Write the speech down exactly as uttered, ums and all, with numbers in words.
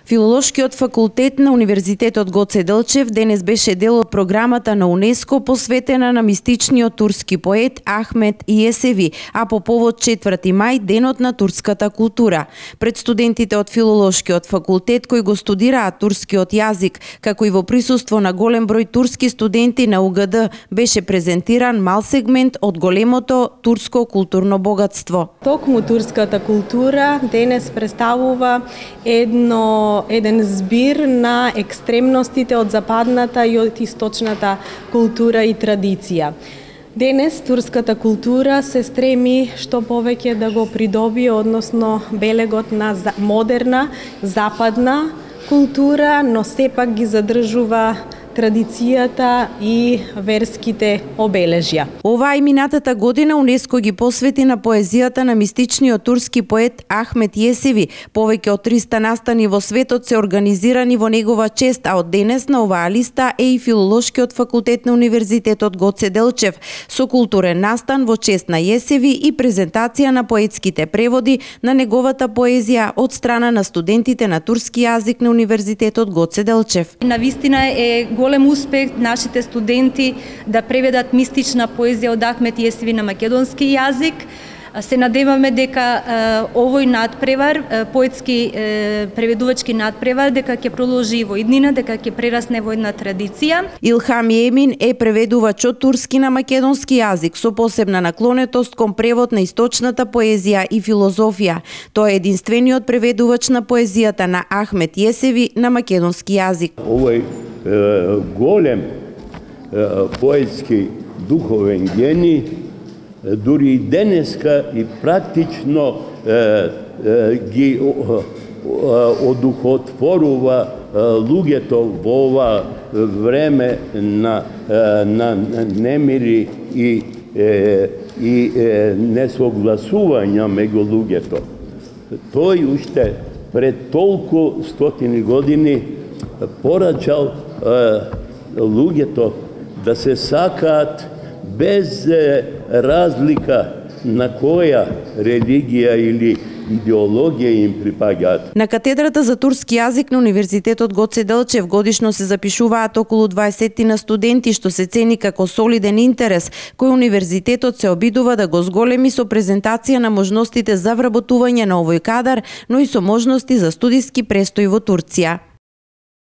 Филолошкиот факултет на Универзитетот Гоце Делчев денес беше дел од програмата на УНЕСКО посветена на мистичниот турски поет Ахмет Иесеви, а по повод четврти мај, денот на турската култура. Пред студентите од Филолошкиот факултет кои го студираат турскиот јазик, како и во присуство на голем број турски студенти на У Г Д, беше презентиран мал сегмент од големото турско културно богатство. Токму турската култура денес представува едно еден збир на екстремностите од западната и од источната култура и традиција. Денес турската култура се стреми што повеќе да го придобие, односно белегот на модерна, западна култура, но сепак ги задржува традицијата и верските обележја. Оваа и минатата година УНЕСКО ги посвети на поезијата на мистичниот турски поет Ахмет Иесеви. Повеќе од триста настани во светот се организирани во негова чест, а од денес на оваа листа е и Филолошкиот факултет на Универзитетот Гоце Делчев со културен настан во чест на Иесеви и презентација на поетските преводи на неговата поезија од страна на студентите на турски јазик на Универзитетот Гоце Делчев. Навистина е голем успех нашите студенти да преведат мистична поезија од Ахмет Иесеви на македонски јазик. Се надеваме дека овој надпревар, поетски преведувачки надпревар, дека ќе продолжи во иднина, дека ќе прерасне во една традиција. Илхам Емин е преведувач од турски на македонски јазик со посебна наклонетост кон превод на источната поезија и филозофија. Тој е единствениот преведувач на поезијата на Ахмет Иесеви на македонски јазик. Овој голем поетски духовен гени дури и денеска и практично ги одухотворува луѓето во ова време на на немири и и несогласувања меѓу луѓето. Тој уште пред толку стотини години порачал луѓето да се сакаат без разлика на која религија или идеологија им припаѓаат. На катедрата за турски јазик на Универзитетот Гоце Делчев годишно се запишуваат околу дваесет на студенти, што се цени како солиден интерес, кој универзитетот се обидува да го зголеми со презентација на можностите за вработување на овој кадар, но и со можности за студиски престој во Турција.